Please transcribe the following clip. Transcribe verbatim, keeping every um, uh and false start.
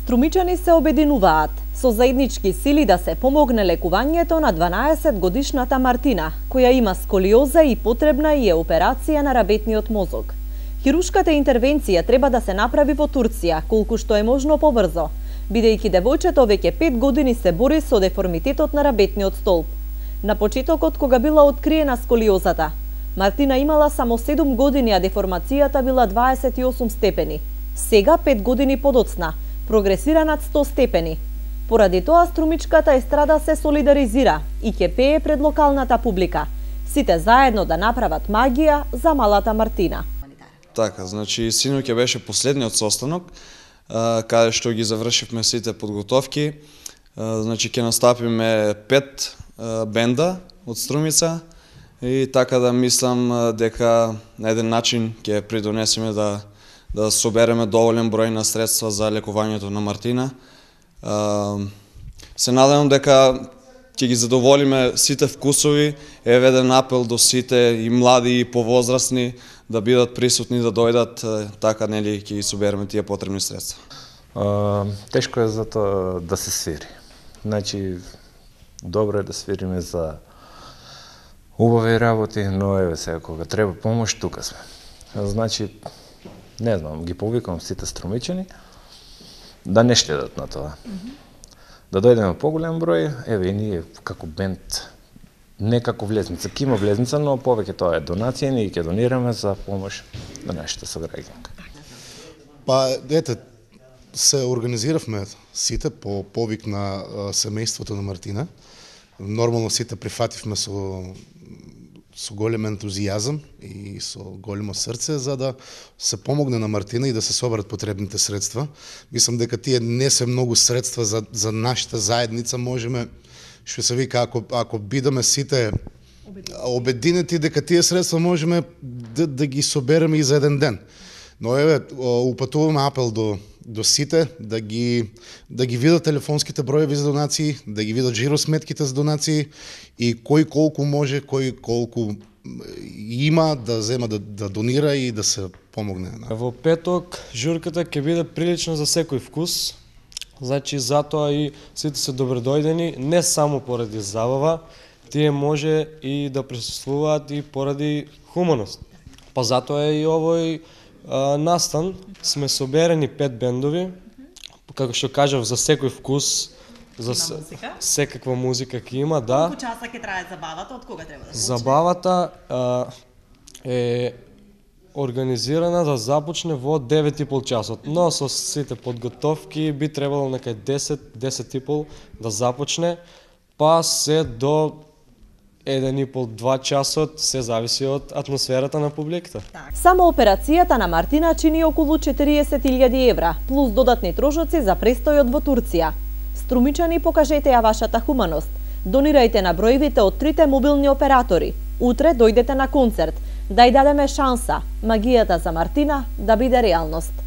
Струмичани се обединуваат со заеднички сили да се помогне лекувањето на дванаесет годишната Мартина, која има сколиоза и потребна и е операција на рабетниот мозок. Хирушката интервенција треба да се направи во Турција, колку што е можно побрзо, бидејќи девојчето веќе пет години се бори со деформитетот на рабетниот столб. На почетокот, кога била откриена сколиозата, Мартина имала само седум години, а деформацијата била дваесет и осум степени. Сега, пет години подоцна, прогресира над сто степени. Поради тоа струмичката естрада се солидаризира и ќе пее пред локалната публика. Сите заедно да направат магија за малата Мартина. Така, значи синоќа беше последниот состанок, каде што ги завршивме сите подготовки. Значи ќе настапиме пет бенда од Струмица и така да мислам дека на еден начин ќе придонесеме да да собереме доволен број на средства за лекувањето на Мартина. Се надевам дека ќе ги задоволиме сите вкусови. Еве еден апел до сите, и млади и повозрасни, да бидат присутни, да дојдат, така нели ќе ги собереме тие потребни средства. А, тешко е за тоа да се свири. Значи, добро е да свириме за убави работи, но еве сега кога треба помош, тука сме. Значи, не знам, ги повикам сите струмичани да не штедат на тоа. Mm -hmm. Да дојдеме поголем број, еве и ние како бенд, не како влезница, ќе има влезница, но повеќе тоа е донација, ние ќе донираме за помош на нашите сограѓанки. Па, ете, се организиравме сите по повик на семејството на Мартина. Нормално сите прифативме со со голем ентузијазам и со големо срце за да се помогне на Мартина и да се соберат потребните средства. Мислам дека тие не се многу средства за за нашата заедница, можеме, што се вика, ако ако бидеме сите обединети, дека тие средства можеме да, да ги собереме и за еден ден. Но еве, упатуваме апел до до сите да ги да ги видат телефонските броеви за донации, да ги видат жиросметките за донации и кој колку може, кој колку има да зема да, да донира и да се помогне. Во петок журката ќе биде прилично за секој вкус. Значи затоа и сите се добредојдени, не само поради забава, тие може и да присуствуваат и поради хуманост. Па затоа е и овој Uh, настан, сме соберени пет бендови, како што кажав, за секој вкус, за музика? секаква музика ќе има, да. Колку часа ќе трае забавата, од кога треба да почне? Забавата uh, е организирана да започне во девет и пол часот, но со сите подготовки би требало некај десет, десет и пол да започне, па се до еден и пол до два часот, се зависи од атмосферата на публиката. Само операцијата на Мартина чини околу четириесет илјади евра, плюс додатни трошоци за престојот во Турција. Струмичани, покажете ја вашата хуманост. Донирајте на бројвите од трите мобилни оператори. Утре дојдете на концерт, да ја дадеме шанса, магијата за Мартина да биде реалност.